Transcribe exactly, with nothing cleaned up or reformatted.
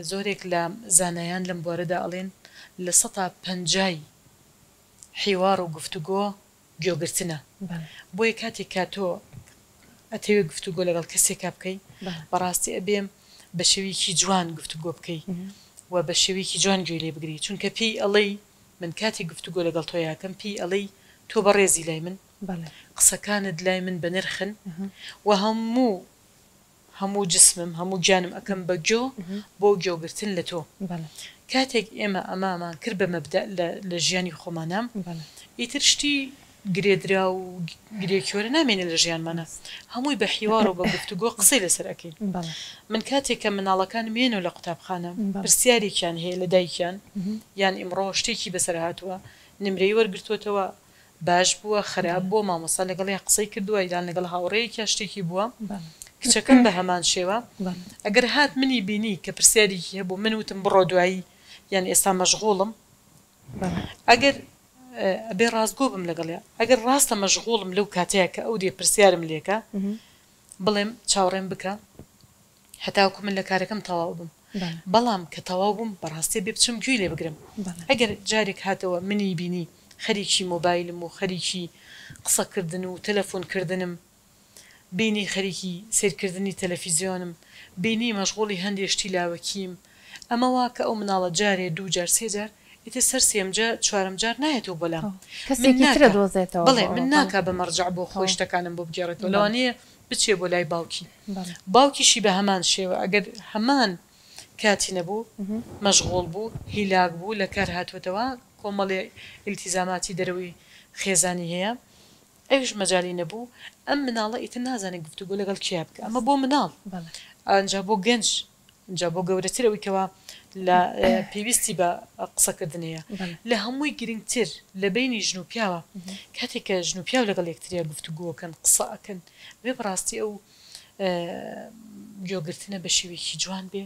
زۆرێک لە زانایان لەم بوارەدا ئەڵێن لە سەتا پەنجای حیوار و گفتوگۆ گوێگرتنە. بۆیە کاتێک کە تۆ ئەتەوێ گفتوگۆ لەگەڵ کەسێکا بکەی، بەڕاستی ئەبێ بە شێوەیەکی جوان گفتوگۆ بکەی و بە شێوەیەکی جوان گوێی لێ بگری، چونکە پێی ئەڵێی من کاتێک گفتوگۆ لەگەڵ تۆیا ئەکەم پێی ئەڵێی تۆ بەڕێزی لای من، قسەکانت لای من بەنرخن و هەموو هەموو جسمم هەموو گیانم ئەکەم بە گۆ بۆ گۆگرتن لە تۆ. کاتێک ئێمە ئەمامان کرد بە مەبدەء لە ژیانی خۆمانا، ئیتر شتی گرێدراو و گرێکیۆرە نامێنێ لە ژیانمانا، هەمووی بە حیوار و بە گفتوگۆ قسەی لەسەر ئەکەین. من کاتێک کە مناڵەکانم یەنەوە لە قوتابخانە پرسیارێکیان هەیە لە دایکیان، یان ئیمڕۆ شتێکی بەسەر هاتووە، نمرەی وەرگرتووەتەوە، باش بووە خراپ بووە، مامۆستا لەگەڵیا قسەی کردووە یان لەگەڵ هاوڕێیەکیا شتێکی بووە، کچەکەم بە هەمان شێوە ئەگەر هات منی بینی کە پرسیارێکی هەبوو من وتم بڕۆ دوایی یان ئێستا مەشغوڵم، ئەگەر ئەبێ ڕاستگۆ بم لەگەڵیا، ئەگەر ڕاستە مەشغوڵم لەو کاتەیە کە ئەو دێ پرسیارم لێکە بڵێم چاوەڕێم بکە هەتاوەکو من لە کارەکەم تەواو بم، بەڵام کە تەواو بووم بەڕاستی بێ بچم گوێی لێ بگرم. ئەگەر جارێک هاتەوە منی بینی خەریکی مۆبایلم و خەریکی قسەکردن و تەلەفۆن کردنم، بینی خەریکی سەیرکردنی تەلەفیزیۆنم، بینی مەشغوڵی هەندێ شتی لاوەکیم، ئەمە وا کە ئەو مناڵە جارێ دوو جار سێ جار ئیتر سەر سێم جار چوارەم جار نایەتەوە بۆ لام، من کەسێکی ترە ناکا دۆزێتەوە بەڵێ بۆ من ئەوە بەڵێ ناکا بە مەرجەع بۆ خۆی تەواو شتەکانم بۆ بگێڕێتەوە، بەڵێ لەوانەیە بچێ بۆ لای باوکی، بەڵێ باوکیشی بە هەمان شێوە ئەگەر هەمان کاتی نەبوو، مەشغوڵ بوو، هیلاک بوو، لە کار هاتووەتەوە، کۆمەڵێ ئیلتیزاماتی دەرەوەی خێزانی هەیە، ئەویش مەجالی نەبوو، ئەم مناڵە ئیتر نازانێت گفتوگۆ لەگەڵ کێیا بکا، ئەمە بۆ مناڵ، بەڵێ ئەنجا بۆ گەنج، ئینجا بۆ گەورەتر ئەوەی کەوا لە پێویستی بە قسەکردن هەیە، بەڵێ لە هەمووی گرنگتر لە بەینی ژن و پیاوە، کاتێک کە ژن و پیاو لەگەڵ یەکتریا گفتوگۆ ئەکەن، قسە ئەکەن، ئەبێ بەڕاستی ئەو گوێگرتنە بە شێوەیەکی جوان بێ.